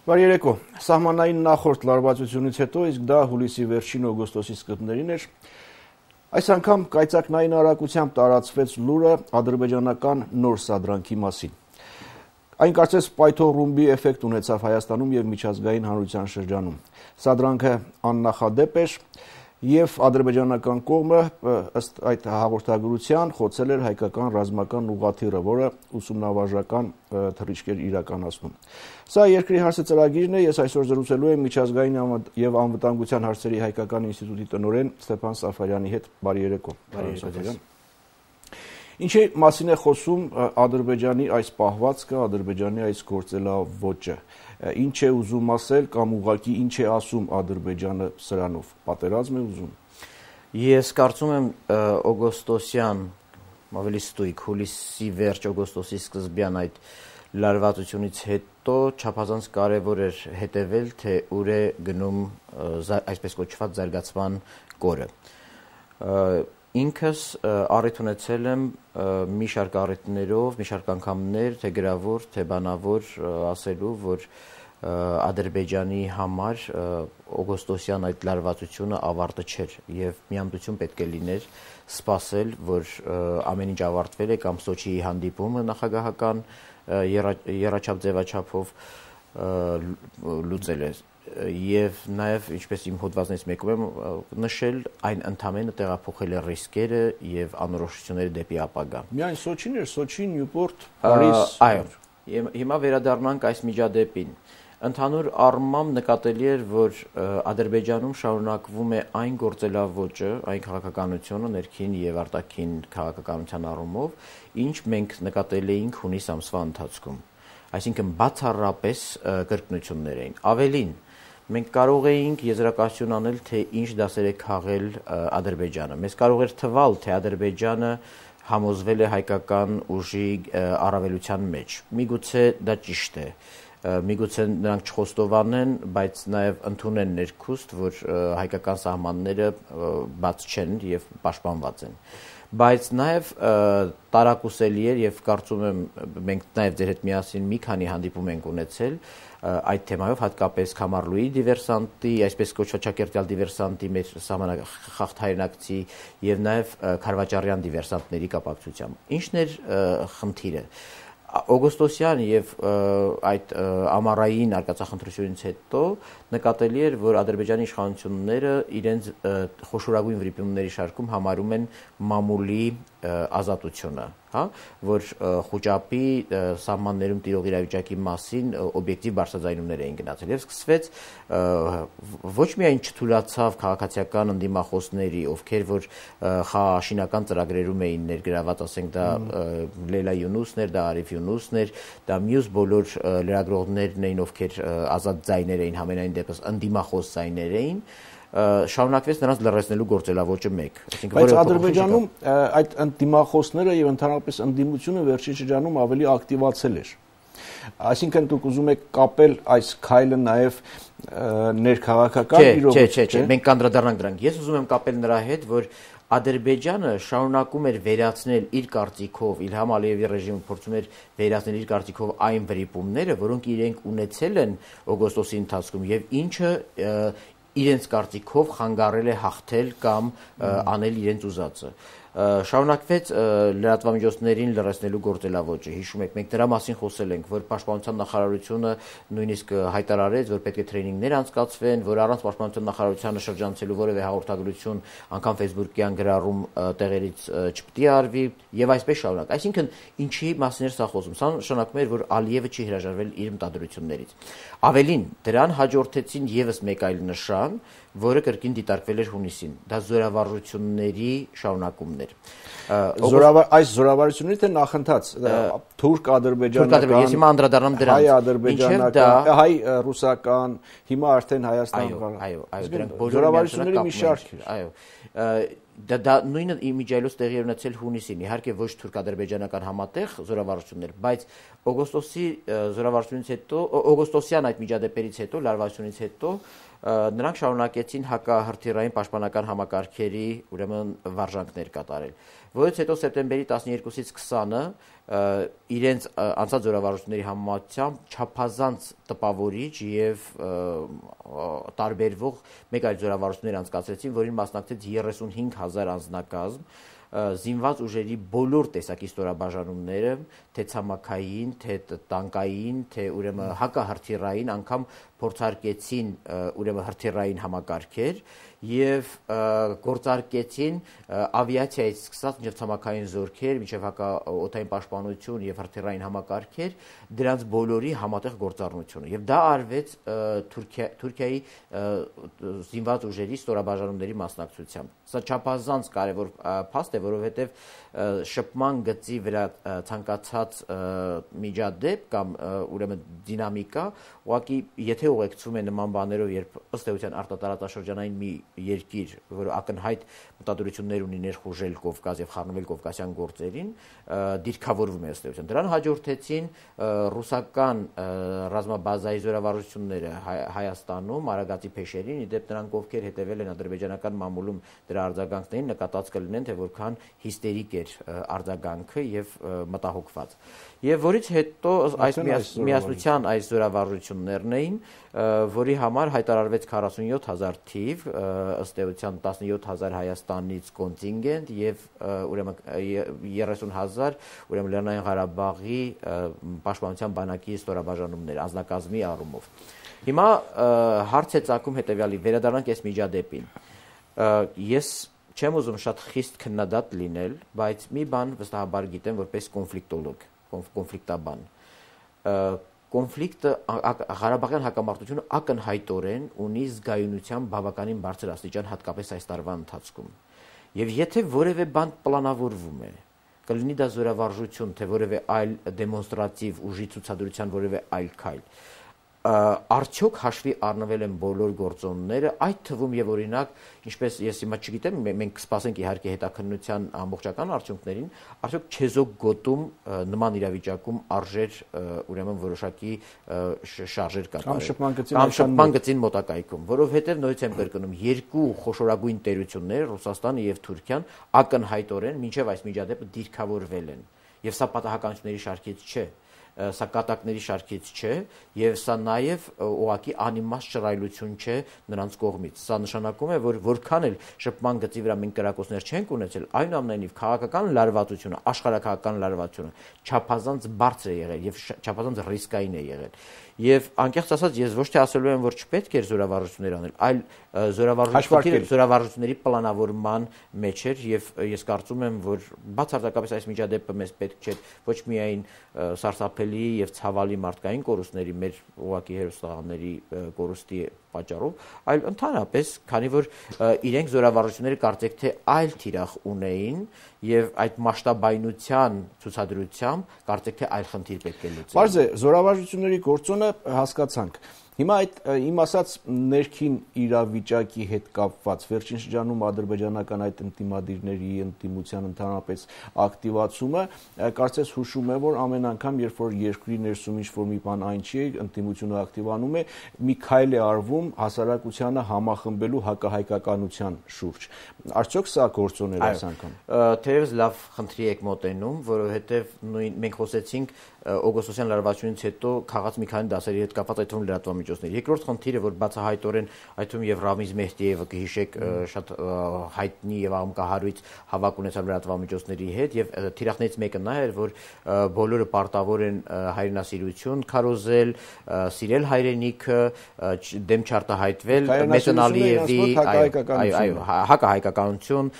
Բարի երեկո, սահմանային նախորդ լարվածությունից հետո, իսկ դա հուլիսի վերջին օգոստոսի սկզբներին էր, այս անգամ կայծակնային արագությամբ տարածվեց լուրը ադրբեջանական նոր սադրանքի մասին։ Այն կարծես պայթող ռումբի էֆեկտ ունեցավ Հայաստանում և միջազգային հանրության շրջանում։ Սադրանքը աննախադեպ էր և ադրբեջանական կողմը ըստ այդ հաղորդագրության խոցել էր հայկական ռազմական ուղղաթիռը, որը ուսումնավարժական թռիչք էր իրականացնում։ Սա երկրի հարցը ծրագիրն է, ես այսօր զրուցելու եմ միջազգային և անվտանգության հարցերի հայկական ինստիտուտի տնօրեն Ստեփան Սաֆարյանի հետ։ Բարի երեկո։ Ինչի մասին է խոսում Ադրբեջանի այս պահվածքը, Ադրբեջանի այս գործելավոճը։ Ինչ է ուզում ասել կամ ուղղակի ինչ է ասում Ադրբեջանը սրանով, պատերազմ է ուզում։ Ես կարծում եմ օգոստոսյան, ավելի ստույգ, հուլիսի վերջ օգոստոսի սկզբյան այդ լարվածությունից հետո չափազանց կարևոր էր հետևել, թե ուր է գնում այսպես կոչված զարգացման կորը։ Ինքս առիթ ունեցել եմ մի շարք առիթներով, մի շարք անգամներ, թե գրավոր, թե բանավոր ասելու, որ Ադրբեջանի համար օգոստոսյան այդ լարվածությունը ավարտը չէր և միամտություն պետք է լիներ սպասել, որ ամեն ինչ ավարտվել է կամ Սոչիի հանդիպումը նախագահական եռաչափ ձևաչափով լուծել է և նաև, ինչպես իմ հոդվածներից մեկում եմ նշել, այն ընդամենը տեղափոխել է ռիսկերը և անորոշությունները դեպի ապագա։ Միայն Սոչին էր, Սոչի, Նյուպորտ, Փարիզ։ Այո, հիմա վերադառնանք այս միջադեպին։ Ընդհանուր առմամբ նկատելի էր, որ Ադրբեջանում շարունակվում է այն գործելավոճը, այն քաղաքականությունը, ներքին և արտաքին քաղաքականության առումով, ինչ մենք նկատել էինք հունիս ամսվա ընթացքում։ Այսինքն բացառապես կրկնություններ էին։ Ավելին, մենք կարող էինք եզրակացություն անել, թե ինչ դասեր է քաղել Ադրբեջանը։ Մեզ կարող էր թվալ, թե Ադրբեջանը համոզվել է հայկական ուժի առավելության մեջ։ Միգուցե դա ճիշտ է։ Միգուցե նրանք չխոստովանեն, բայց նաև ընդունեն ներքուստ, որ հայկական սահմանները բաց չեն և պաշտպանված են։ Բայց նաև տարակուսելի էր և կարծում եմ մենք նաև ձեր հետ միասին մի քանի հանդիպում ենք ունեցել այդ թեմայով, հատկապես Քամարլուի դիվերսանտի, այսպես կոչված ճակերտյալ դիվերսանտի մեր սահմանախախտ հայրենակցի և նաև քարվաճարյան դիվերսանտների կապակցությամբ։ Ինչն էր խնդիրը։ Օգոստոսյան և այդ ամառային արկածախնդրությունից հետո նկատելի էր, որ Ադրբեջանի իշխանությունները իրենց խոշորագույն վրիպումների շարքում համարում են մամուլի ազատությունը, որ Խուճապի սահմաններում տիրող իրավիճակի մասին օբյեկտիվ բարձրաձայնումներ էին գնացել և սկսվեց ոչ միայն չթուլացավ քաղաքացիական ընդդիմախոսների, ովքեր որ խաղաշինական ծրագրերում էին ներգրաված, ասենք դա Լեյլա Յունուսն էր, դա Արիֆ Յունուսն էր, դա մյուս բոլոր լրագրողներն էին, ովքեր ազատ ձայներ էին, համենայն դեպս ընդդիմախոս ձայներ էին, շարունակվեց նրանց լռեցնելու գործելավոճը մեկ։ Բայց Ադրբեջանում այդ ընդդիմախոսները և ընդհանրապես ընդդիմությունը վերջին շրջանում ավելի ակտիվացել էր։ Այսինքն դուք ուզում եք կապել այս քայլը նաև ներքաղաքական իրողություն։ Չէ, մենք կանդրադառնանք դրանք։ Ես ուզում եմ կապել նրա հետ, որ Ադրբեջանը շարունակում էր վերացնել իր կարծիքով, Իլհամ Ալիևի ռեժիմը փորձում էր վերացնել իր կարծիքով այն վրիպումները, որոնք իրենք ունեցել են օգոստոսի ընթացքում և ինչը իրենց կարծիքով խանգարել է հաղթել կամ անել իրենց ուզածը։ Շարունակվեց լրատվամիջոցներին լռեցնելու գործելավոճը։ Հիշում եք, մենք դրա մասին խոսել ենք, որ Պաշտպանության նախարարությունը նույնիսկ հայտարարեց, որ պետք է տրեյնինգներ անցկացվեն, որ առանց Պաշտպանության նախարարությանը շրջանցելու որևէ հաղորդագրություն, անգամ ֆեյսբուքյան գրառում տեղերից չպետք է արվի եւ այսպես շարունակ։ Այսինքն ինչի մասին էր սա խոսում։ Սա նշանակում էր, որ Ալիևը չի հրաժարվել իր մտադրություններից։ Ավելին, դրան հաջորդեցին եւս մեկ այլ նշան, որը կրկին դիտարկվել էր հունիսին։ Դա զորավարությունների շարունակումն էր։ Այս զորավարությունների թե նախընթաց թուրք-ադրբեջանական, ես հիմա անդրադառնամ դրանց, հայ-ադրբեջանական, հայ-ռուսական, հիմա արդեն Հայաստան։ Այո, դրանք բոլորը զորավարությունների մի շարք էր։ Այո, դա նույնը իմիջիայլոց տեղի ունեցել հունիսին, իհարկե ոչ թուրք-ադրբեջանական համատեղ զորավարություններ, բայց օգոստոսի զորավարժությունից հետո, օգոստոսյան այդ միջադեպերից հետո, լարվածությունից հետո նրանք շարունակեցին հակահրթիռային պաշտպանական համակարգերի ուրեմն վարժանքներ կատարել, որից հետո սեպտեմբերի 12-ից 20-ը իրենց անցած զորավարժությունների համեմատությամբ չափազանց տպավորիչ եւ տարբերվող մեկ այլ զորավարժություններ անցկացրեցին, որին մասնակցեց 35,000 անձնակազմ, զինված ուժերի բոլոր տեսակի ստորաբաժանումները, թե ցամաքային, թե տանկային, թե ուրեմն հակահրթիռային, անգամ փորձարկեցին ուրեմն հրթիռային համակարգեր եւ գործարկեցին ավիացիայից սկսած մինչեւ ցամաքային զորքեր, մինչեւ հակաօդային պաշտպանություն եւ հրթիռային համակարգեր, դրանց բոլորի համատեղ գործառնությունը եւ դա արվեց Թուրքիայի զինված ուժերի ստորաբաժանումների մասնակցությամբ։ Սա չափազանց կարևոր փաստ է, որովհետեւ շփման գծի վրա ցանկացած միջադեպ կամ ուրեմն դինամիկա, ուղղակի եթե ուղեկցում է նման բաներով, երբ ըստ էության արտատարածաշրջանային մի երկիր, որը ակնհայտ մտադրություններ ունի ներխուժել Կովկաս եւ խառնվել կովկասյան գործերին, դիրքավորվում է ըստ էության։ Դրան հաջորդեցին ռուսական ռազմաբազայի զորավարժությունները Հայաստանում, Արագածի փեշերին, իդեպ նրանք ովքեր հետևել են ադրբեջանական մամուլում դրա արձագանքներին, նկատած կլինեն, թե որքան հիստերիկ էր արձագանքը եւ մտահոգված։ Եվ որից հետո այս միասնության այս զորավարժություններն էին, որի համար հայտարարվեց 47,000 թիվ, ըստ էության 17,000 Հայաստանից կոնտինգենտ եւ ուրեմն 30,000 ուրեմն Լեռնային Ղարաբաղի պաշտպանության բանակի ստորաբաժանումներ անձնակազմի առումով։ Հիմա հարց է ծագում հետեւյալի, վերադառնանք այս միջադեպին։ Ես չեմ ուզում շատ խիստ քննադատ լինել, բայց մի բան վստահաբար գիտեմ որպես կոնֆլիկտոլոգ, կոնֆլիկտաբան։ Կոնֆլիկտը Ղարաբաղյան հակամարտությունը ակնհայտորեն ունի զգայունության բավականին բարձր աստիճան, հատկապես այս տարվա ընթացքում։ Եվ եթե որևէ բան պլանավորվում է, կլինի դա զորավարժություն, թե որևէ այլ դեմոնստրատիվ ուժի ցուցադրության որևէ այլ քայլ, արդյոք հաշվի առնվել են բոլոր գործոնները, այդ թվում եւ օրինակ, ինչպես ես հիմա չգիտեմ, մենք կսպասենք իհարկե հետաքննության ամբողջական արդյունքներին, արդյոք չեզոք գոտում նման իրավիճակում արժեր ուրեմն որոշակի շարժեր կատարել կամ շփման գծին մոտակայքում, որովհետեւ նույնիսկ եմ կրկնում, երկու խոշորագույն տերություններ, Ռուսաստանը եւ Թուրքիան, ակնհայտորեն մինչեւ այս միջադեպը դիրքավորվել են, եւ սա պատահականությունների շարքից չէ, սա կատակների շարքից չէ եւ սա նաեւ ուղղակի անիմաստ շռայլություն չէ նրանց կողմից։ Սա նշանակում է, որ որքան էլ շփման գծի վրա մենք կրակոցներ չենք ունեցել, այնուամենայնիվ քաղաքական լարվածությունը, աշխարհակաղակական լարվածությունը չափազանց բարձր է եղել եւ չափազանց ռիսկային է եղել։ Եվ անկեղծ ասած, ես ոչ թե ասելու եմ, որ չպետք էր զորավարժություններ անել, այլ զորավարժությունների պլանավորման մեջ էր եւ ես կարծում եմ, որ բացարձակապես այս միջադեպը մեզ պետք չէ ոչ միայն սարսափելի եւ ցավալի մարդկային կորուստների, մեր ուղղակի հերոստաղանների կորուստի պատճառով, այլ ընդհանրապես, քանի որ իրենք զորավարժությունները կարծեք թե այլ թիրախ ունեին եւ այդ մասշտաբայնության ցուցադրությամբ կարծեք թե այլ խնդիր պետք է լուծել։ Պարզ է, զորավարժությունների գործոնը հասկացանք։ Հիմա այդ իմ ասած ներքին իրավիճակի հետ կապված վերջին շրջանում ադրբեջանական այդ ընդդիմադիրների ընդդիմության ընդհանրապես ակտիվացումը կարծես հուշում է, որ ամեն անգամ, երբ որ երկրի ներսում ինչ-որ մի բան այն չի, ընդդիմությունը ակտիվանում է, մի քայլ է արվում հասարակությանը համախմբելու հակահայկականության շուրջ։ Արդյոք սա գործոն էր այս անգամ։ Թերևս լավ խնդրի եք մոտենում, որովհետև մենք խոսեցինք օգոստոսյան լարվածությունից հետո քաղաց մի քանի դասերի հետ կապված այդ թվում լրատվամիջոցների։ Երկրորդ խնդիրը, որ բացահայտորեն այդ թվում եւ Ռամիզ Մեհդիևը կհիշեք շատ հայտնի եւ աղմկահարույց հավաք ունեցավ լրատվամիջոցների հետ եւ թիրախներից մեկը նա էր, որ բոլորը պարտավոր են հայրենասիրություն քարոզել, սիրել հայրենիքը, դեմ չարտահայտվել Մեսեն Ալիևի հակահայկականություն,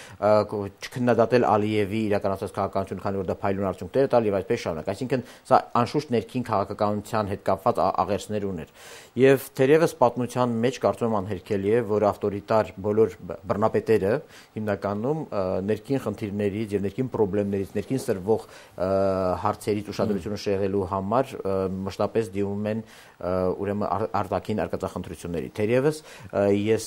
չքննադատել Ալիևի իրականացած քաղաքականությունը, քանի որ դա փայլուն արդյունքներ է տալ եւ այսպես շարունակ։ Այսինքն սա անշուշտ ներքին քաղաքականության հետ կապված աղերսներ ուներ։ Եվ թերևս պատմության մեջ կարծում եմ անհերքելի է, որ ավտորիտար բոլոր բռնապետերը հիմնականում ներքին խնդիրներից եւ ներքին խնդիրներից, ներքին սրվող հարցերից ուշադրությունը շեղելու համար մշտապես դիմում են ուրեմն արտաքին արկածախնդրությունների։ Թերևս ես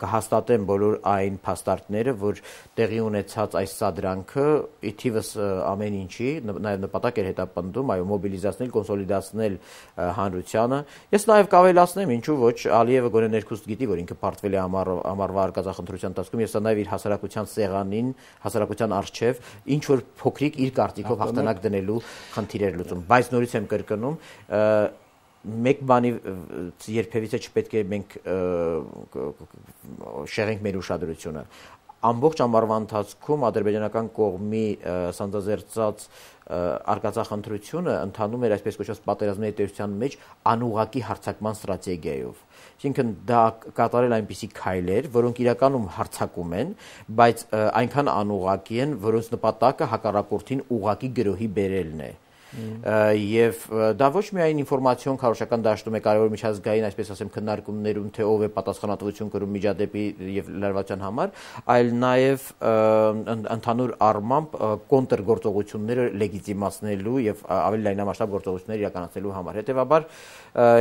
կհաստատեմ բոլոր այն փաստարկները, որ տեղի ունեցած այս սադրանքը ի թիվս ամեն ինչի նաեւ նպատակ էր հետապնդում, այո, մոբիլիզացնել, կոնսոլիդացնել հանրությանը։ Ես նաեւ կավելացնեմ, ինչու ոչ, Ալիևը գոնե ներքուստ գիտի, որ ինքը պարտվել է ամառվա արկածախնդրության ընթացքում, եւ սա նաեւ իր հասարակության սեղանին, հասարակության առջև ինչ որ փոքրիկ իր կարծիքով հաղթանակ դնելու խնդիր էր լուծում։ Բայց նորից եմ կրկնում, մեկ բանի երբևիցե չպետք է մենք շեղենք մեր ուշադրությունը։ Ամբողջ ամառվա ընթացքում ադրբեջանական կողմի սանձազերծած արկածախնդրությունը ընթանում էր այսպես կոչված պատերազմների տերության մեջ անուղղակի հարձակման ստրատեգիայով։ Այսինքն դա կատարել այնպիսի քայլեր, որոնք իրականում հարձակում են, բայց այնքան անուղղակի են, որոնց նպատակը հակառակորդին ուղղակի գրոհի բերելն է։ Եվ դա ոչ միայն ինֆորմացիոն քարոզչական դաշտում է կարևոր միջազգային, այսպես ասեմ, քննարկումներում, թե ով է պատասխանատվություն կրում միջադեպի եւ լարվածության համար, այլ նաեւ ընդհանուր առմամբ կոնտրգործողությունները լեգիտիմացնելու եւ ավելի լայնամասշտաբ գործողություններ իրականացնելու համար։ Հետեւաբար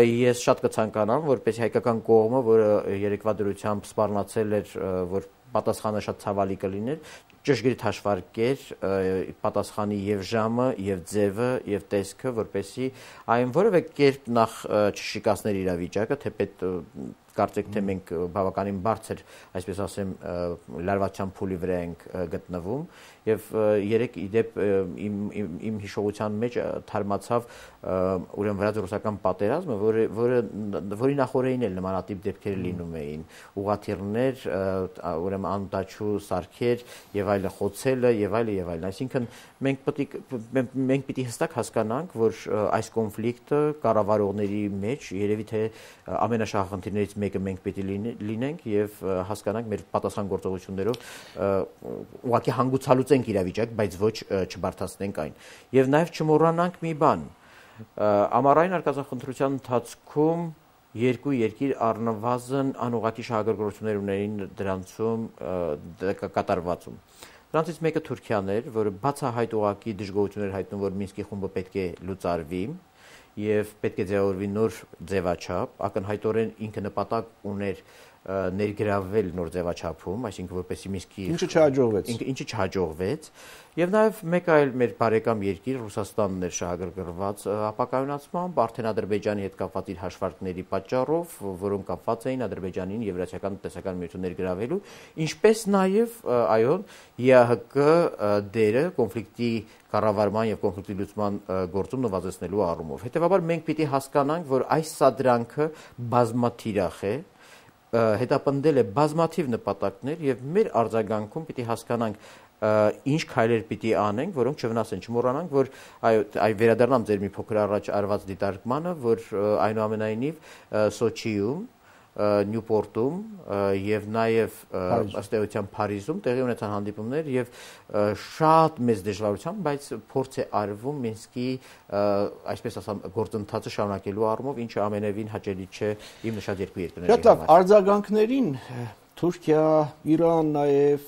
ես շատ կցանկանամ, որպեսզի հայկական կողմը, որը երեկվա դրությամբ սպառնացել էր, որ պատասխանը շատ ցավալի կլիներ, ճշգրիտ հաշվարկեր պատասխանի եւ ժամը, եւ ձևը, եւ տեսքը, որպեսզի այն որևէ կերպ նախ չշիկացներ իրավիճակը, թեպետ կարծեք թե մենք բավականին բարձր, այսպես ասեմ, լարվածության փուլի վրա ենք գտնվում եւ երեք իդեպ իմ հիշողության մեջ թարմացավ ուրեմն վրաց-ռուսական պատերազմը, որի նախորդին էլ նմանատիպ դեպքեր լինում էին, ուղղաթիռներ, ուրեմն անտաչու սարքեր եւ այլն, խոցելը եւ այլն, այսինքն մենք պիտի հստակ հասկանանք, որ այս կոնֆլիկտը կառավարողների մեջ երևի թե ամենաշահախնդիրներից մեկը մենք պիտի լինենք եւ հասկանանք մեր պատասխան գործողություններով ուղղակի հանգուցալուծենք իրավիճակ, բայց ոչ չբարթացնենք այն։ Եվ նաեւ չմոռանանք մի բան. ամառային արկածախնդրության ընթացքում երկու երկիր առնվազն անուղղակի շահագրգռություններ ունեին դրանցում կատարվածում։ Դրանցից մեկը Թուրքիան էր, որը բացահայտ ուղղակի դժգոհություններ հայտնում, որ Մինսկի խումբը պետք է լուծարվի եւ պետք է ձևավորվի նոր ձևաչափ, ակնհայտորեն ինքը նպատակ ուներ ներգրավել նոր ձևաչափում, այսինքն որպեսզի Մինսկի ինչը չհաջողվեց, եւ նաեւ մեկ այլ մեր բարեկամ երկիր Ռուսաստանն էր շահագրգռված ապակայունացմամբ արդեն Ադրբեջանի հետ կապված իր հաշվարկների պատճառով, որոնք կապված էին Ադրբեջանին Եվրասիական տնտեսական միություն ներգրավելու, ինչպես նաեւ այո ԵԱՀԿ դերը կոնֆլիկտի կառավարման եւ կոնֆլիկտի լուծման գործում նվազեցնելու առումով։ Հետեւաբար մենք պիտի հասկանանք, որ այս սադրանքը բազմաթիրախ է, հետապնդել է բազմաթիվ նպատակներ եւ մեր արձագանքում պիտի հասկանանք ինչ քայլեր պիտի անենք, որոնք չվնասեն, չմոռանանք, որ այ վերադառնամ ձեր մի փոքր առաջ արված դիտարկմանը, որ այնուամենայնիվ Սոչիում, Նյուպորտում եւ նաեւ ըստ էության Փարիզում տեղի ունեցան հանդիպումներ եւ շատ մեծ դժվարությամբ, բայց փորձ է արվում Մինսկի այսպես ասեմ գործընթացը շարունակելու առումով, ինչը ամենևին հաճելի չէ իմ նշած երկու երկրների համար։ Շատ լավ, արձագանքներին Թուրքիա, Իրան, նաև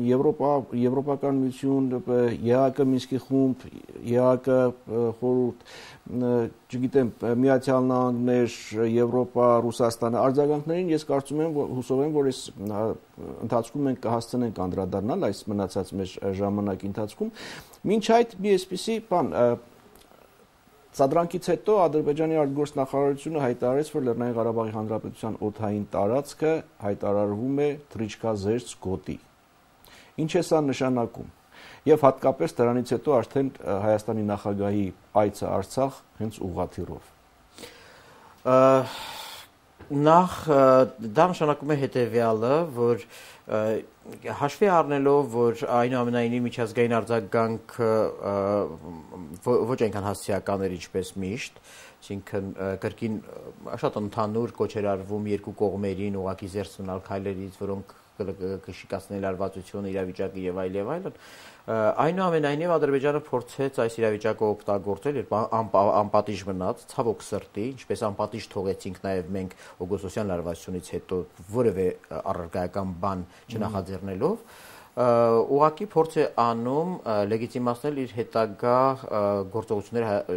Եվրոպական միություն, ԵԱՀԿ Մինսկի խումբ, ԵԱՀԿ խորհուրդ, չգիտեմ, Միացյալ Նահանգներ, Եվրոպա, Ռուսաստանը արձագանքներին ես կարծում եմ, հուսով եմ, որ այս ընթացքում մենք կհասցնենք անդրադառնալ այս մնացած մեր ժամանակի ընթացքում։ Մինչ այդ մի այսպիսի բան Սադրանքից հետո Ադրբեջանի արտգործնախարարությունը հայտարարեց, որ Լեռնային Ղարաբաղի Հանրապետության օդային տարածքը հայտարարվում է թռիչքազերծ գոտի։ Ինչ է սա նշանակում։ Եվ հատկապես դրանից հետո արդեն Հայաստանի նախագահի այցը Արցախ հենց ուղղաթիռով։ Նախ դա նշանակում է հետևյալը, որ Հաշվի առնելով, որ այնուամենայնիվ միջազգային արձագանքը ոչ այնքան հասցեական էր ինչպես միշտ, այսինքն կրկին շատ ընդհանուր կոչեր արվում երկու կողմերին ուղղակի զերծ մնալ քայլերից, որոնք կշիկացնել լարվածությունը, իրավիճակը եւ այլն, այնուամենայնիվ Ադրբեջանը փորձեց այս իրավիճակը օգտագործել, երբ անպատիժ մնաց, ցավոք սրտի, ինչպես անպատիժ թողեցինք նաեւ մենք օգոստոսյան լարվածությունից հետո որևէ առարկայական բան չնախաձեռնելով, ուղղակի փորձ է անում լեգիտիմացնել իր հետագա գործողությունները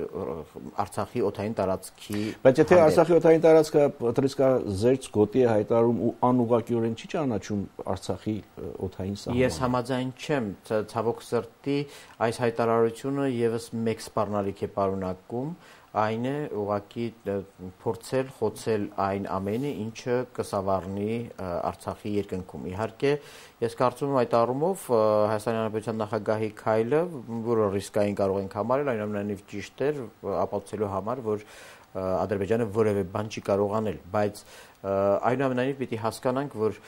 Արցախի օդային տարածքի։ Բայց եթե Արցախի օդային տարածքը տրիսկա զերծ գոտի է հայտարարում ու անուղղակիորեն չի ճանաչում Արցախի օդային սահմանը։ Ես համաձայն չեմ, ցավոք սրտի այս հայտարարությունը եւս մեկ սպառնալիք է պարունակում, այն է ուղղակի փորձել խոցել այն ամենը, ինչը կսավառնի Արցախի երկնքում։ Իհարկե, ես կարծում եմ այդ առումով Հայաստանի Հանրապետության նախագահի քայլը, որը ռիսկային կարող ենք համարել, այնուամենայնիվ ճիշտ էր ապացուցելու համար, որ Ադրբեջանը որևէ բան չի կարող անել, բայց այնուամենայնիվ պիտի հասկանանք, որ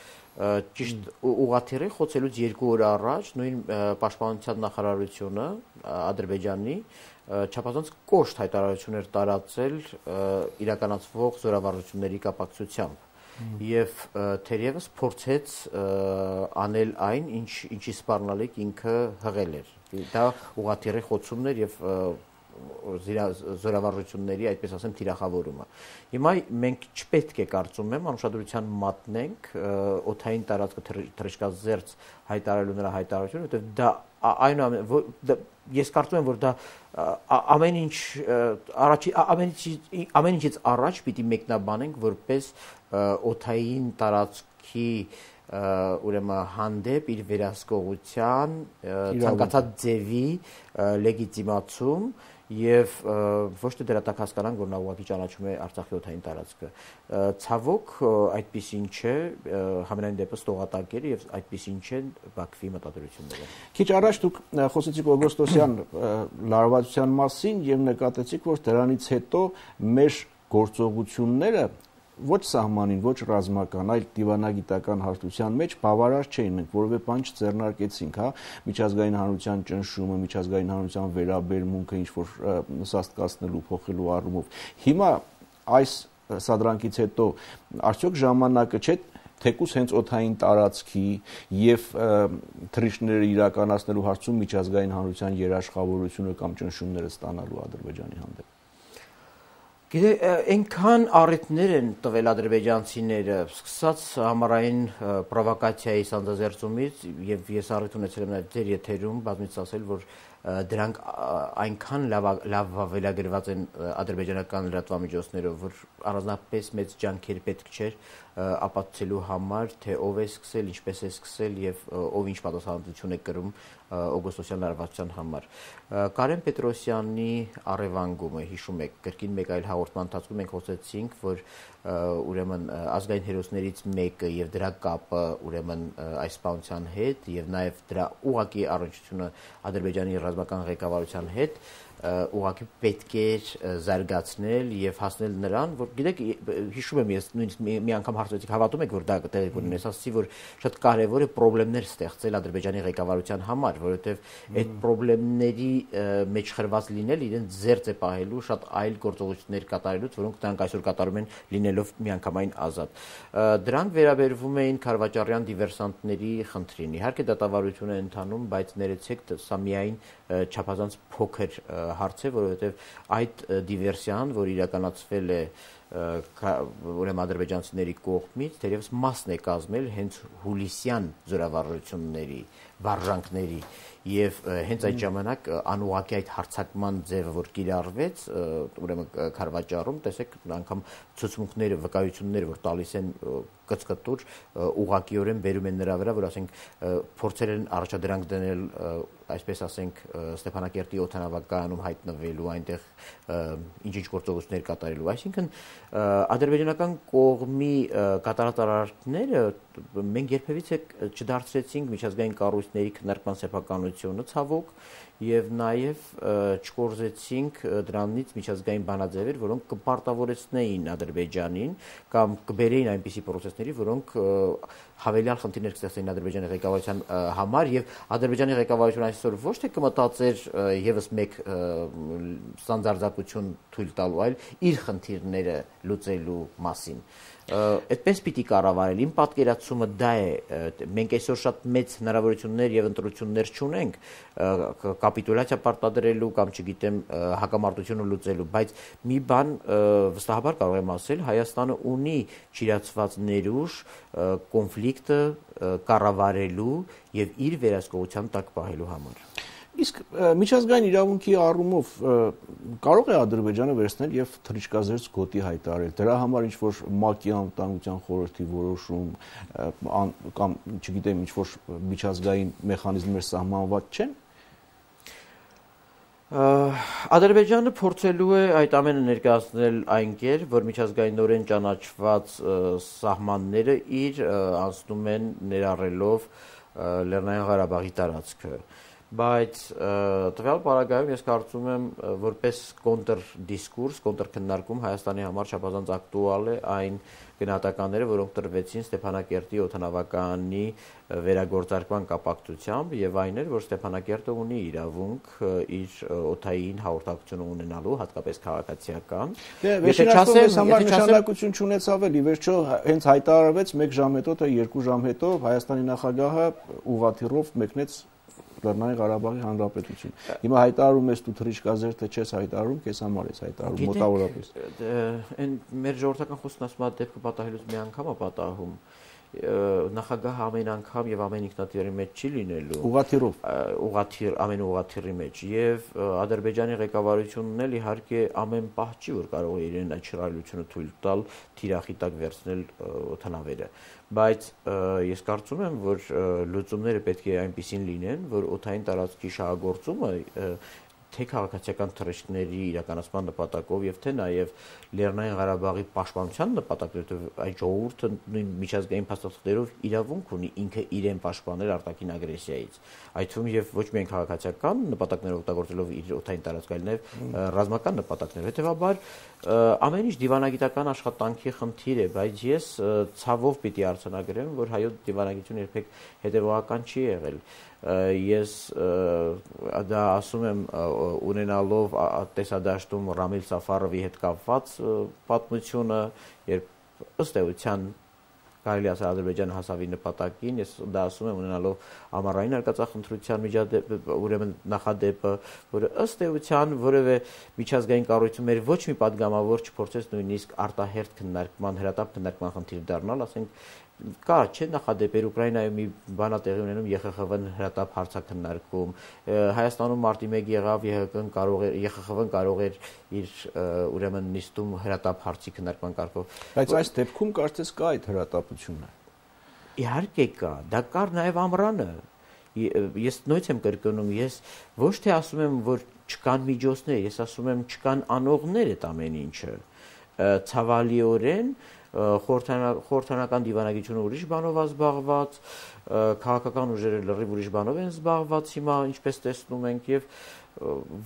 ճիշտ ուղղաթիռի խոցելուց 2 օր առաջ նույն պաշտպանության նախարարությունը Ադրբեջանի չափազանց կոշտ հայտարարություններ տարածել իրականացվող զորավարժությունների կապակցությամբ եւ թերևս փորձեց անել այն, ինչի սպառնալիք ինքը հղել էր։ Դա ուղղաթիռի խոցումն էր եւ զորավարժությունների, այդպես ասեմ, թիրախավորումը։ Հիմա մենք չպետք է կարծում եմ անուշադրության մատնենք օդային տարածքը թռիչքազերծ հայտարարելու նրա հայտարարությունը, որովհետև դա ես կարծում եմ, որ դա ամեն ինչից առաջ պիտի մեկնաբանենք որպես օդային տարածքի ուրեմն հանդեպ իր վերահսկողության ցանկացած ձևի լեգիտիմացում եւ ոչ թե դրատակ հասկանանք, որ նա ուղղակի ճանաչում է Արցախի օդային տարածքը։ Ցավոք այդպիսին չէ, համենայն դեպս տողատակ էր եւ այդպիսին չեն Բաքվի մտադրությունները։ Քիչ առաջ դուք խոսեցիք օգոստոսյան լարվածության մասին եւ նկատեցիք, որ դրանից հետո մեր գործողությունները ոչ սահմանին, ոչ ռազմական, այլ դիվանագիտական հարթության մեջ բավարար չէին, մենք որևէ բան չձեռնարկեցինք, հա, միջազգային հանրության ճնշումը, միջազգային հանրության վերաբերմունքը ինչ որ սաստկացնելու, փոխելու առումով։ Հիմա այս սադրանքից հետո արդյոք ժամանակը չէ թեկուզ հենց օդային տարածքի եւ թռիչքները իրականացնելու հարցում միջազգային հանրության երաշխավորությունը կամ ճնշումները ստանալու Ադրբեջանի հանդեպ։ Գիտեք, այնքան առիթներ են տվել ադրբեջանցիները, սկսած համառային պրովոկացիայի սանձազերծումից, եւ ես առիթ ունեցել եմ նաեւ ձեր եթերում բազմիցս ասել, որ դրանք այնքան լավ ավելագրված են ադրբեջանական լրատվամիջոցներով, որ առանձնապես մեծ ջանքեր պետք չէր ապացուցելու համար, թե ով է սկսել, ինչպես է սկսել եւ ով ինչ պատասխանատվություն է կրում օգոստոսյան լարվածության համար։ Կարեն Պետրոսյանի առևանգումը, հիշում եք, կրկին մեկ այլ հաղորդման ընթացքում մենք խոսեցինք, որ ուրեմն ազգային հերոսներից մեկը եւ դրա կապը ուրեմն այս սպանության հետ եւ նաեւ դրա ուղղակի առնչությունը Ադրբեջանի ռազմական ղեկավարության հետ ուղղակի պետք է զարգացնել եւ հասնել նրան, որ գիտեք, հիշում եմ ես նույնիսկ մի անգամ հարցրեցիք, հավատում եք, որ դա տեղի կունենա, ասացի, որ շատ կարեւոր է խնդիրներ ստեղծել Ադրբեջանի ղեկավարության համար, որովհետեւ այդ խնդիրների մեջ խրված լինել իրենց զերծ է պահելու շատ այլ գործողություններ կատարելուց, որոնք նրանք այսօր կատարում են լինելով միանգամայն ազատ։ Դրանք վերաբերվում էին Քարվաճարյան դիվերսանտների խնդրին։ Իհարկե դատավարություն է ընթանում, բայց ներեցեք, սա միայն չափազանց փոքր հարց է, որովհետև այդ դիվերսիան, որ իրականացվել է ուրեմն ադրբեջանցիների կողմից, թերևս մասն է կազմել հենց հուլիսյան զորավարժությունների, վարժանքների եւ հենց այդ ժամանակ անուղղակի այդ հարցակման ձևը, որ կիրառվեց, ուրեմն Քարվաճարում, տեսեք, անգամ ցուցմունքները, վկայությունները, որ տալիս են կծկտուր, ուղղակիորեն բերում են նրա վրա, որ ասենք փորձել են առաջադրանք դնել, այսպես ասենք, Ստեփանակերտի օդանավակայանում հայտնվելու, այնտեղ ինչ-ինչ գործողություններ կատարելու, այսինքն ադրբեջանական կողմի կատարած արարքները մենք երբևիցե չդարձրեցինք միջազգային կառույցների քննարկման սեփականությունը, ցավոք, եւ նաեւ չկորզեցինք դրանից միջազգային բանաձևեր, որոնք կպարտավորեցնեին Ադրբեջանին կամ կբերեին այնպիսի process-ների, որոնք հավելյալ խնդիրներ կստեղծեին Ադրբեջանի ղեկավարության համար եւ Ադրբեջանի ղեկավարությունը այսօր ոչ թե կմտածեր եւս մեկ ստանդարտизացություն թույլ տալու, այլ իր խնդիրները լուծելու մասին։ Այդպես պիտի կառավարել։ Իմ պատկերացումը դա է։ Մենք այսօր շատ մեծ հնարավորություններ եւ ընտրություններ չունենք կապիտուլյացիա պարտադրելու կամ չգիտեմ հակամարտությունը լուծելու, բայց մի բան վստահաբար կարող եմ ասել, Հայաստանը ունի ճիրացված ներուժ կոնֆլիկտը կառավարելու եւ իր վերահսկողության տակ պահելու համար։ Իսկ միջազգային իրավունքի առումով կարող է Ադրբեջանը վերցնել եւ թռիչքազերծ գոտի հայտարարել։ Դրա համար ինչ որ ՄԱԿ-ի անվտանգության խորհրդի որոշում կամ չգիտեմ ինչ որ միջազգային մեխանիզմներ սահմանված չեն։ Ադրբեջանը փորձելու է այդ ամենը ներկայացնել այն կեր, որ միջազգայինորեն ճանաչված սահմանները իր անցնում են ներառելով Լեռնային Ղարաբաղի տարածքը։ Բայց տվյալ պարագայում ես կարծում եմ որպես կոնտրդիսկուրս, կոնտրքննարկում Հայաստանի համար չափազանց ակտուալ է այն գնահատականները, որոնք տրվեցին Ստեփանակերտի օդանավակայանի վերագործարկման կապակցությամբ եւ այն էր, որ Ստեփանակերտը ունի իրավունք իր օդային հաղորդակցություն ունենալու, հատկապես քաղաքացիական։ Եթե չասեմ, նշանակություն չունեցավ էլի, վերջո հենց հայտարարվեց 1 ժամ հետո, թե 2 ժամ հետո Հայաստանի նախագահը ուղղաթիռով մեկնեց Լեռնային Ղարաբաղի Հանրապետություն։ Հիմա հայտարարում ես դու թռիչքազերծ թե չես հայտարարում, քեզ համար ես հայտարարում մոտավորապես։ Այն մեր ժողովրդական խոսքն ասում է դեպքը պատահելուց մի անգամ է պատահում։ Նախագահը ամեն անգամ եւ ամեն ինքնաթիռի մեջ չի լինելու։ Ուղղաթիռով։ Ամեն ուղղաթիռի մեջ եւ Ադրբեջանի ղեկավարությունն էլ իհարկե ամեն պահ չի որ կարող է իրեն այդ շռայլությունը թույլ տալ թիրախի տակ վերցնել օդանավերը։ Բայց ես կարծում եմ, որ լուծումները պետք է այնպիսին լինեն, որ օդային տարածքի շահագործումը թե քաղաքացիական թռիչքների իրականացման նպատակով եւ թե նաեւ Լեռնային Ղարաբաղի պաշտպանության նպատակով այդ ժողովուրդը նույն միջազգային փաստաթղթերով իրավունք ունի ինքը իրեն պաշտպանել արտաքին ագրեսիայից։ Այդ թվում եւ ոչ միայն քաղաքացիական նպատակներով օգտագործելով իր օդային տարածքը, այլ նաեւ ռազմական նպատակներով։ Հետեւաբար ամեն ինչ դիվանագիտական աշխատանքի խնդիր է, բայց ես ցավով պիտի արձանագրեմ, որ հայոց դիվանագիտությունը երբեք հետեւողական չի եղել։ Ես դա ասում եմ ունենալով տեսադաշտում Ռամիլ Սաֆարովի հետ կապված պատմությունը, երբ ըստ էության կարելի ասել Ադրբեջանը հասավ իր նպատակին, ես դա ասում եմ ունենալով ամառային արկածախնդրության ուրեմն նախադեպը, որը ըստ էության որևէ միջազգային կառույցում մեր ոչ մի падգամավոր չփորձեց նույնիսկ արտահերթ քննարկման, հրատապ քննարկման խնդիր դառնալ, ասենք կա չէ նախադեպեր Ուկրաինայում մի բան է տեղի ունենում ԵԽԽՎ-ն հրատապ հարցաքննարկում, Հայաստանում մարտի 1 եղավ ԵԽԽՎ-ն կարող էր իր ուրեմն նիստում հրատապ հարցի քննարկման կարգով։ Բայց այս դեպքում կարծես կա այդ հրատապությունը։ Իհարկե կա, դա կար նաև ամռանը։ Ես նույնիսկ եմ կրկնում, ես ոչ թե ասում եմ, որ չկան միջոցներ, ես ասում եմ չկան անողներ այդ ամեն ինչը։ Ցավալիորեն խորհրդանական դիվանագիտությունը ուրիշ բանով է զբաղված, քաղաքական ուժերը լրիվ ուրիշ բանով են զբաղված հիմա, ինչպես տեսնում ենք, եւ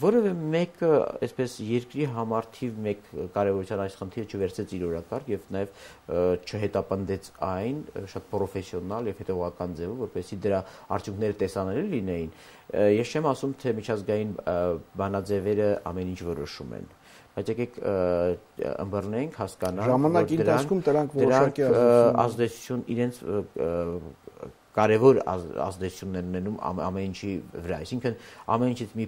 որևէ մեկը այսպես երկրի համար թիվ 1 կարևորության այս խնդիրը չվերցեց իր օրակարգ եւ նաեւ չհետապնդեց այն շատ պրոֆեսիոնալ եւ հետեւողական ձևով, որպեսզի դրա արդյունքները տեսանելի լինեին։ Ես չեմ ասում, թե միջազգային բանաձևերը ամեն ինչ որոշում են, բայց եկեք ըմբռնենք, հասկանանք, ժամանակի ընթացքում դրանք որոշակի ազդեցություն իրենց կարևոր ազդեցություններ ունենում ամեն ինչի վրա, այսինքն ամեն ինչից մի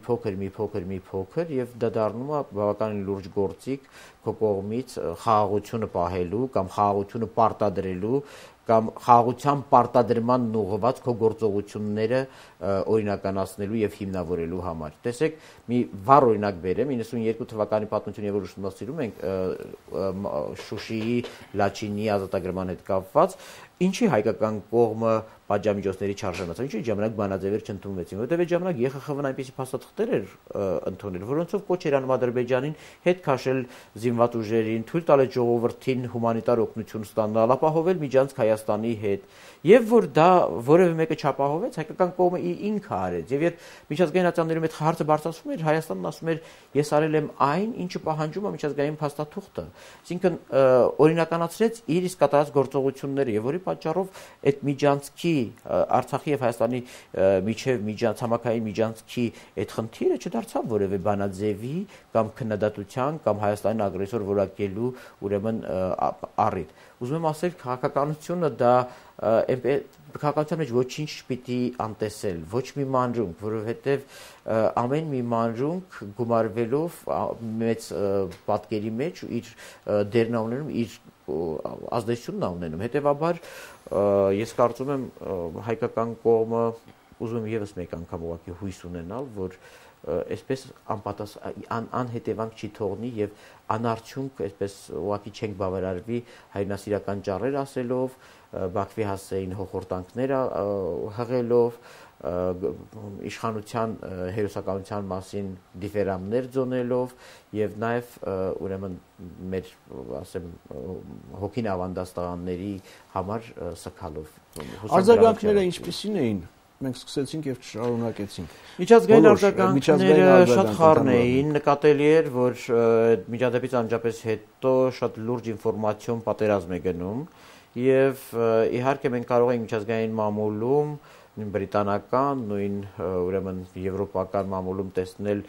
փոքր եւ դա դառնում է բավականին լուրջ գործիք քո կողմից խաղաղությունը պահելու կամ խաղաղությունը պարտադրելու կամ խաղաղության պարտադրման ուղղված քո գործողությունները օրինականացնելու եւ հիմնավորելու համար։ Տեսեք, մի վառ օրինակ բերեմ, 92 թվականի պատմությունը, որ ուսումնասիրում ենք Շուշիի Լաչինի ազատագրման հետ կապված, ինչի հայկական կողմը պատժամիջոցների չարժանացավ, ինչի ժամանակ բանաձևեր չընդունվեցին, որտեղ այդ ժամանակ ԵԽԽՎ-ն այնպիսի փաստաթղթեր էր ընդունել, որոնցով կոչ էր անում Ադրբեջանին հետ քաշել զինված ուժերին, թույլ տալ այդ ժողովրդին հումանիտար օգնություն ստանալ, ապահովել միջանցք Հայաստանի հետ, եւ որ դա որևէ մեկը չապահովեց, հայկական կողմը ինքը արեց։ Եւ երբ միջազգային ատյաններում այդ հարցը բարձրացվում էր, Հայաստանն ասում էր, ես արել եմ այն, ինչը պահանջում է միջազգային փաստաթուղթը։ Այսինքն օրինականացրեց իր իսկ կատարած գործողությունները եւ որի պատճառով այդ միջանցքի Արցախի եւ Հայաստանի միջև ցամաքային միջանցքի այդ խնդիրը չդարձավ որևէ բանաձևի կամ քննադատության կամ Հայաստանին ագրեսոր որակելու ուրեմն առիթ։ Ուզում եմ ասել, քաղաքականությունը դա քաղաքականության մեջ ոչինչ չպիտի անտեսել, ոչ մի մանրունք, որովհետև ամեն մի մանրունք գումարվելով մեծ պատկերի մեջ ու իր դերն ունենում, իր ազդեցությունն ունենում։ Հետևաբար ես կարծում եմ հայկական կողմը ուզում եմ եւս մեկ անգամ ուղղակի հույս ունենալ, որ այսպես անհետևանք չի թողնի եւ անարդյունք այսպես ուղղակի չենք բավարարվի հայրենասիրական ճառեր ասելով, Բաքվի հասցեին հոխորտանքները հղելով, իշխանության հերոսականության մասին դիֆերամներ ձոնելով եւ նաեւ ուրեմն մեր ասեմ հոգին ավանդած տղաների համար սքալով։ Արձագանքները ինչպիսին էին։ Մենք սկսեցինք եւ շարունակեցինք։ Միջազգային արձագանքները շատ խառն էին, նկատելի էր, որ միջադեպից անջապես հետո շատ լուրջ ինֆորմացիոն պատերազմ է գնում եւ իհարկե մենք կարող ենք միջազգային մամուլում նույն բրիտանական, նույն ուրեմն եվրոպական մամուլում տեսնել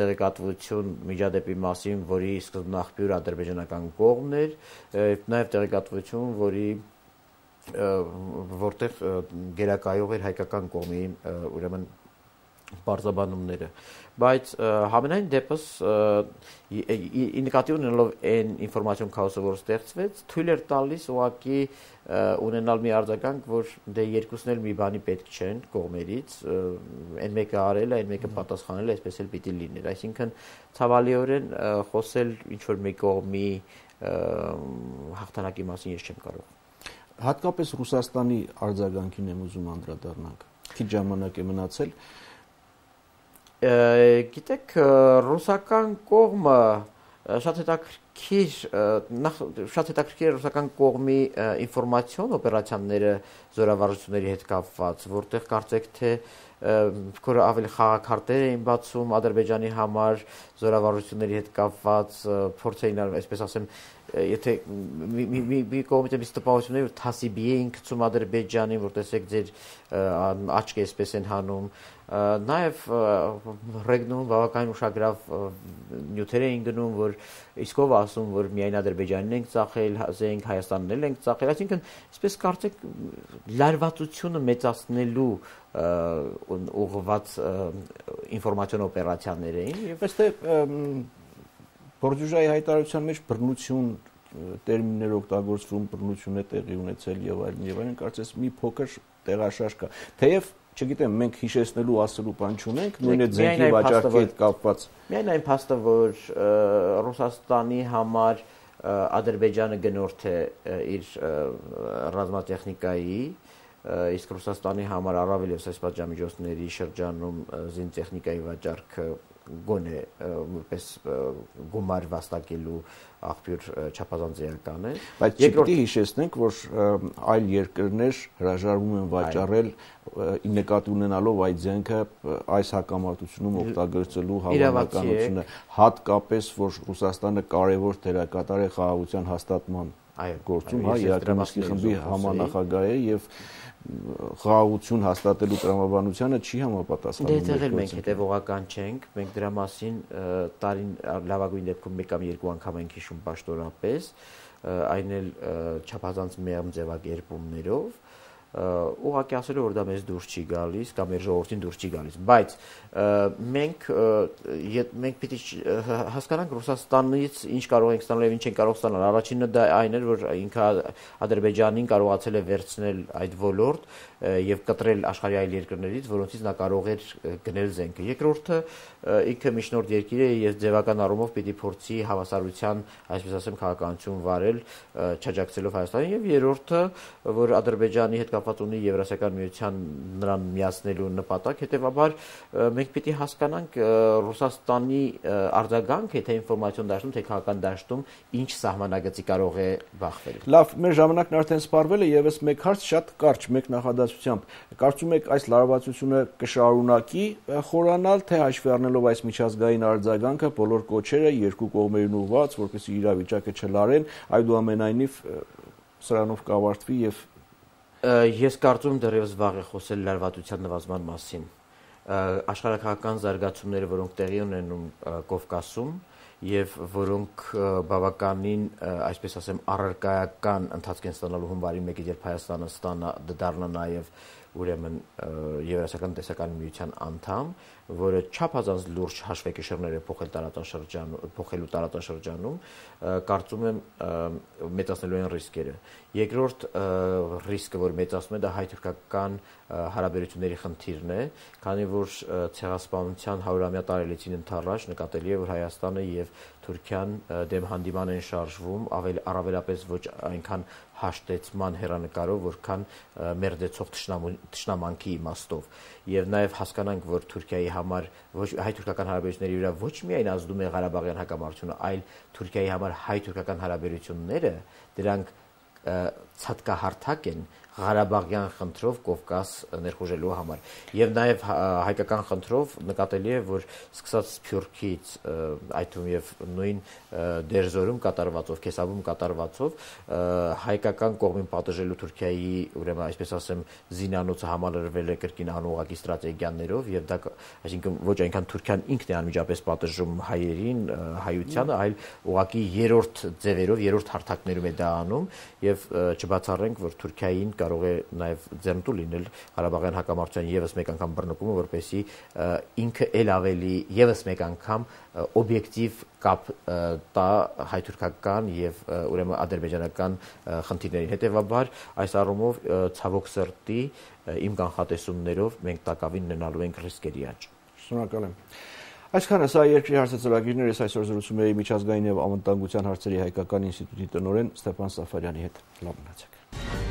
տեղեկատվություն միջադեպի մասին, որի սկզբնաղբյուրը ադրբեջանական կողմն էր, նաեւ տեղեկատվություն, որտեղ գերակայող էր հայկական կողմի ուրեմն բարձաբանումները, բայց համենայն դեպս նկատի ունենալով այն ինֆորմացիոն քաոսը, որ ստեղծվեց, թույլ էր տալիս ուղղակի ունենալ մի արձագանք, որ դե երկուսն էլ մի բանի պետք չեն կողմերից, այն մեկը արել է, այն մեկը պատասխանել է, այսպես էլ պիտի լիներ, այսինքն ցավալիորեն խոսել ինչ որ մի կողմի հաղթանակի մասին ես չեմ կարող։ Հատկապես Ռուսաստանի արձագանքին եմ ուզում անդրադառնանք։ Քիչ ժամանակ է մնացել։ Գիտեք, ռուսական կողմը շատ հետաքրքիր է ռուսական կողմի ինֆորմացիոն օպերացիաները զորավարժությունների հետ կապված, որտեղ կարծեք թե ավելի խաղաքարտեր էին բացում Ադրբեջանի համար զորավարժությունների հետ կապված, փորձ էին արվում, այսպես ասեմ, եթե մի կողմից էս տպավորություններ թասիբի էին գցում Ադրբեջանին, որ տեսեք ձեր աչքը այսպես են հանում, նաև ռեգնում բավականին ուշագրավ նյութեր էին գնում, որ իսկով ասում, որ միայն Ադրբեջանին ենք ծախել, զենք Հայաստանն էլ ենք ծախել, այսինքն այսպես կարծեք լարվածությունը մեծացնելու ուղղված ինֆորմացիոն օպերացիաներ էին եւ այստեղ Բորդյուժայի հայտարարության մեջ բռնություն տերմիններ օգտագործվում, բռնություն է տեղի ունեցել եւ այլն, կարծես մի փոքր տեղաշարժ կա։ Թեև չգիտեմ, մենք հիշեցնելու ասելու բան չունենք, նույն է ձենքի վաճառքի հետ կապված։ Միայն այն փաստը, որ Ռուսաստանի համար Ադրբեջանը գնորդ է իր ռազմատեխնիկայի, իսկ Ռուսաստանի համար առավել եւս այս պատժամիջոցների շրջանում զինտեխնիկայի վաճառքը գոնե որպես գումար վաստակելու աղբյուր չափազանց էական է։ Բայց չպետք է հիշեցնենք, որ այլ երկրներ հրաժարվում են վաճառել նկատի ունենալով այդ զենքը այս հակամարտությունում օգտագործելու հավանականությունը, հատկապես որ Ռուսաստանը կարևոր դերակատար է խաղաղության հաստատման գործում, Երևանի խմբի համանախագահ է եւ խաղաղություն հաստատելու տրամաբանությանը չի համապատասխանում։ Դե մենք հետևողական չենք, մենք դրա մասին տարին լավագույն դեպքում մեկ կամ երկու անգամ ենք հիշում պաշտոնապես, այն էլ չափազանց մեղմ ձևակերպումներով, ուղղակի ասելով որ դա մեզ դուրս չի գալիս կամ մեր ժողովրդին դուրս չի գալիս, բայց մենք պիտի հասկանանք Ռուսաստանից ինչ կարող ենք ստանալ եւ ինչ չենք կարող ստանալ։ Առաջինը դա այն էր, որ ինքը Ադրբեջանին կարողացել է վերցնել այդ ոլորտ եւ կտրել աշխարհի այլ երկրներից, որոնցից նա կարող էր գնել զենքը։ Երկրորդը ինքը միջնորդ երկիր է եւ ձևական առումով պիտի փորձի հավասարության, այսպես ասեմ, քաղաքականություն վարել, չաջակցելով Հայաստանին, եւ երրորդը, որ Ադրբեջանի հետ կապված ունի Եվրասիական միության նրան միացնելու նպատակ, հետևաբար մենք պիտի հասկանանք Ռուսաստանի արձագանքը, թե ինֆորմացիոն դաշտում, թե քաղաքական դաշտում ինչ սահմանագծի կարող է բախվել։ Լավ, մեր ժամանակն արդեն սպառվել է, եւս մեկ հարց շատ կարճ, մեկ նախադասությամբ։ Կարծում եք այս լարվածությունը կշարունակի խորանալ, թե հաշվի առնելով այս միջազգային արձագանքը, բոլոր կոչերը երկու կողմերին ուղղված, որպեսզի իրավիճակը չլարեն, այդուամենայնիվ սրանով կավարտվի եւ ես կարծում դեռևս վաղ է խոսել լարվածության նվազման մասին։ Աշխարհակահաղական զարգացումները, որոնք տեղի ունենում Կովկասում եւ որոնք բավականին, այսպես ասեմ, առարկայական ընթացք են ստանալու հունվարի 1-ից, երբ Հայաստանը դառնա նաեւ ուրեմն Եվրասիական տնտեսական միության անդամ, որը չափազանց լուրջ հաշվեկշիռներ է փոխելու տարածաշրջանում, կարծում եմ մեծացնելու են ռիսկերը։ Երկրորդ ռիսկը, որ մեծացնում է, դա հայ-թուրքական հարաբերությունների խնդիրն է, քանի որ ցեղասպանության 100-ամյա տարելիցին ընթառաջ նկատելի է, որ Հայաստանը եւ Թուրքիան դեմ հանդիման են շարժվում, առավելապես ոչ այնքան հաշտեցման հեռանկարով, որքան մերձեցող թշնամանքի իմաստով։ Եվ նաև հասկանանք, որ Թուրքիայի համար հայ-թուրքական հարաբերությունների վրա ոչ միայն ազդում է Ղարաբաղյան հակամարտությունը, այլ Թուրքիայի համար հայ-թուրքական հարաբերությունները դրանք ցածկահարթակ են Ղարաբաղյան խնդրով Կովկաս ներխուժելու համար։ Եվ նաև հայկական խնդրով նկատելի է, որ սկսած Սփյուռքից, այդ թվում եւ նույն Դերձորում կատարվածով, Քեսավում կատարվածով հայկական կողմին պատժելու Թուրքիայի, ուրեմն այսպես ասեմ, զինանոցը համալրվել է կրկին անուղղակի ստրատեգիաներով եւ դա, այսինքն ոչ այնքան Թուրքիան ինքն է անմիջապես պատժում հայերին, հայությանը, այլ ուղղակի երրորդ ձևերով, երրորդ հարթակներում է դա անում եւ չբացառենք, որ Թուրքիային կարող է նաև ձեռնտու լինել Ղարաբաղյան հակամարտության եւս մեկ անգամ բռնկումը, որպեսզի ինքը ել ավելի եւս մեկ անգամ օբյեկտիվ կապ տա հայ-թուրքական եւ ուրեմն ադրբեջանական խնդիրներին։ Հետևաբար այս առումով ցավոք սրտի իմ կանխատեսումներով մենք տակավին ունենալու ենք ռիսկերի աճ։ Շնորհակալ եմ։ Այսքանը սա երկրի հարցը ծրագիրներ ես այսօր զրուցում էի միջազգային եւ անվտանգության հարցերի հայկական ինստիտուտի տնօրեն Ստեփան Սաֆարյանի հետ։ Լավ մնացեք։